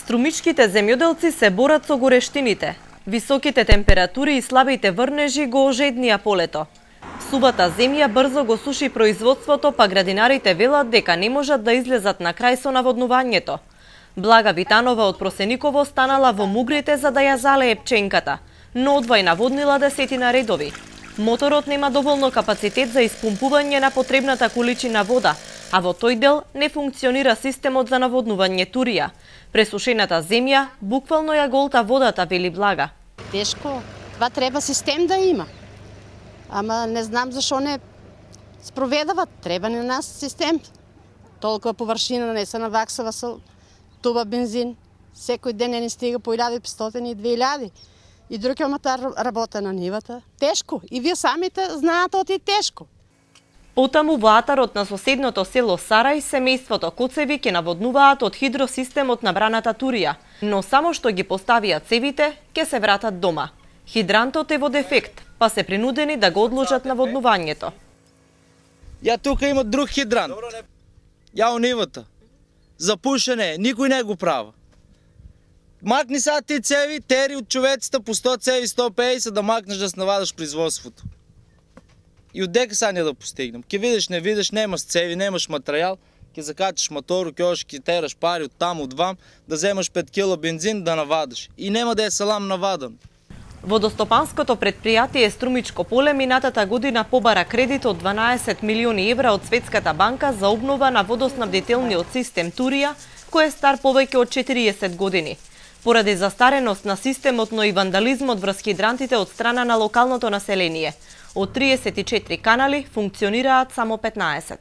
Струмичките земјоделци се борат со горештините. Високите температури и слабите врнежи го ожеднија полето. Сувата земја брзо го суши производството, па градинарите велат дека не можат да излезат на крај со наводнувањето. Блага Витанова од Просениково станала во мугрите за да ја залее пченката, но одвај наводнила десетина редови. Моторот нема доволно капацитет за испумпување на потребната количина вода, а во тој дел не функционира системот за наводнување Турија. Пресушената земја буквално ја голта водата, вели Блага. Тешко, това треба систем да има. Ама не знам зашо не спроведават, треба на нас систем. Толкова површина не се наваксава со туба бензин. Секој ден не стига по 1500 и 2000. И друг аматар работа на нивата. Тешко. И вие самите знаат оти тешко. Потаму во атарот на соседното село Сарај, семејството Коцеви ќе наводнуваат од хидросистемот на браната Турија, но само што ги поставија цевите, ќе се вратат дома. Хидрантот е во дефект, па се принудени да го одложат наводнувањето. Ја тука има друг хидрант. Ја у нивата. За пушене, никој не го права. Макни сега ти цеви, тери од човеците по 100 цеви, 150 да макнеш да навадаш производството. И одека сега не да постигнем. Ке видиш, не видиш, немаш цеви, немаш материјал, ке закачиш мотор, ке ош, ке тераш пари од там, од вам, да земаш 5 кило бензин да навадаш. И нема да е салам навадан. Водостопанското предпријатие Струмичко поле минатата година побара кредит од 12 милиони евра од Светската банка за обнова на водоснабдителниот систем Турија, кој е стар повеќе од 40 години. Поради застареност на системот, но и вандализмот врз хидрантите од страна на локалното население. Од 34 канали функционираат само 15.